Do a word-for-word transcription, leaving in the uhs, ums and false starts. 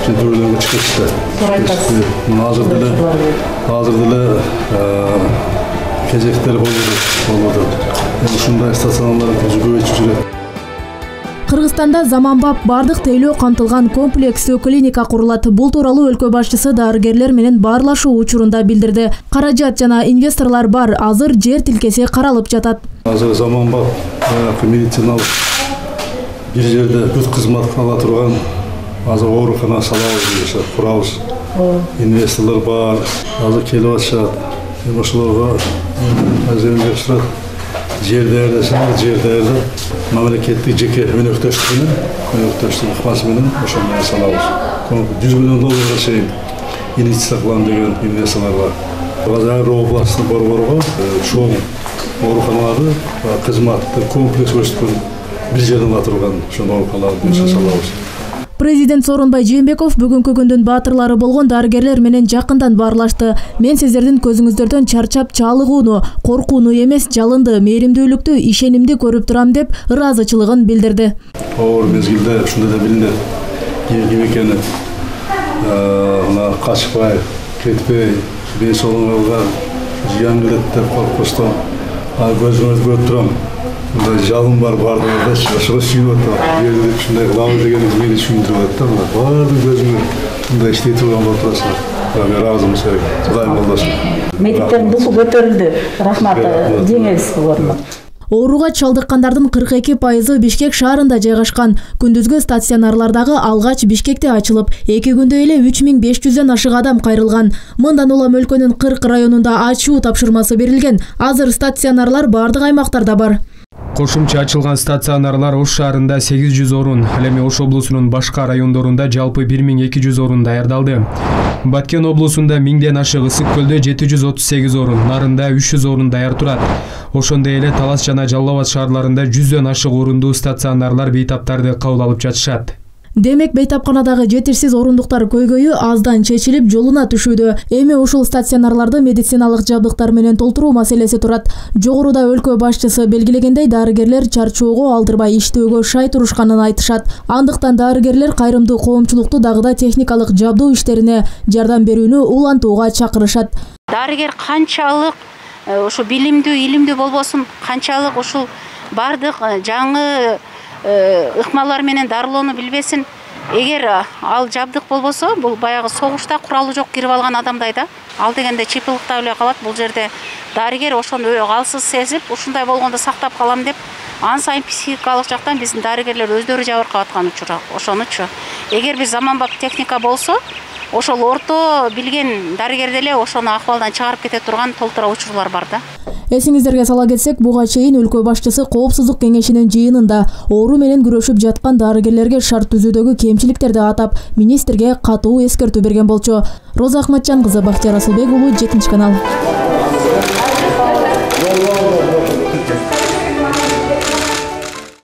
жетүүлөргө чыкты. Мына азыр деле азыр деле кезектер болду. Ушундай стационарлар көбөйүп жүрөт. Кыргызстанда заманбап бардык тейлөө камтылган комплекстүү клиника курулат. Бул тууралуу өлкө башчысы дарыгерлер менен баарлашуу учурунда билдирди. Каражат жана инвесторлор бар, азыр жер тилкеси каралып жатат. Азыр заманбап медициналык бир жерде бүт кызмат ала турган азыр оорукана салабыз, курабыз. Инвесторлор бар, азыр келип атышат. Ошолорго азырынып турат. Жерлерде, жерлерде мамлекеттик жеке өнөктөштүк менен, өнөктөштүк ыкмасы менен ошондой салабыз. жүз миллион долларга чейин инвестиция кылам деген инвесторлор бар. Азыр областтын борборго чоң ооруканаларды кызматты комплекс көрсөткөн бир жерден ала турган ошондой ооруканаларды салабыз. Президент Сооронбай Жээнбеков бүгүнкү күндүн баатырлары болгон дарыгерлер менен жакындан баарлашты. Мен сиздердин көзүңүздөрдөн чарчап чалыгууну, коркууну эмес, жалынды, мээримдүүлүктү, ишенимди көрүп турам деп ыраазычылыгын билдирди. Оор мезгилде ушундай да билинет. Ким экени мына качпай, кетпей, бей соолугуңарга жыян келет деп коркпостон көзүңөрдү көрүп турам. Мындай жалын бар бардыгы, ошого сүйүп атат. Жерде ушундай кыламыз дегенди мени түшүндүрүп атат да. Бардык көзүңөр мындай иштей турган болуп турасыңар. Мен ыраазымын силерге. Кудайым колдошун. Медиктердин дусу көтөрүлдү. Рахмат, жеңебиз орнуна. Ооруга чалдыккандардын кырк эки пайызы Бишкек шаарында жайгашкан. Күндүзгү стационарлардагы алгач Бишкекте ачылып, эки күндө эле үч миң беш жүздөн ашык адам кайрылган. Мындан улам өлкөнүн кырк районунда ачуу тапшырмасы берилген. Азыр стационарлар бардык аймактарда бар. Кошумча ачылган стационарлар Ош шаарында сегиз жүз орун, ал эми Ош облусунун башка райондорунда жалпы бир миң эки жүз орун даярдалды. Баткен облусунда миңден ашык, Ысык көлдө жети жүз отуз сегиз орун, Нарында үч жүз орун даяр турат. Ошондой эле Талас жана Жалал Абад шаарларында жүздөн ашык орундуу стационарлар бейтаптарды кабыл алып жатышат. Демек, бейтапканадагы жетишсиз орундуктар көйгөйү аздан чечилип, жолуна түшүүдө. Эми ушул стационарларды медициналык жабдыктар менен толтуруу маселеси турат. Жогоруда өлкө башчысы белгилегендей, дарыгерлер чарчоого алдырбай иштөөгө шай турушканын айтышат. Андыктан дарыгерлер кайрымдуу коомчулукту дагыда техникалык жабдуу иштерине жардам берүүнү улантууга чакырышат. Дарыгер канчалык ошо билимдүү, илимдүү болбосун, канчалык ушул бардык жаңы ыкмалар менен дарылоону билбесин, эгер ал жабдык болбосо, бул баягы согушта куралы жок кирип алган адамдай да, ал дегенде чыпылыкта эле калат. Бул жерде дарыгер ошону калсыз сезип, ушундай болгондо сактап калам деп, ан сайын психикалык жактан биздин дарыгерлер өздөрү жабыркап аткан учур ошонучу. Эгер бир заманбап техника болсо, ошол орто билген дарыгер деле ошону акыбалдан чыгарып кете турган толтура учурлар бар да. Эсиңиздерге сала кетсек, буга чейин өлкө башчысы Коопсуздук кеңешинин жыйынында оору менен күрөшүп жаткан дарыгерлерге шарт түзүүдөгү кемчиликтерди атап, министрге катуу эскертүү берген болчу. Роза Ахматжан кызы, Бактияр Асылбек уулу, жетинчи канал.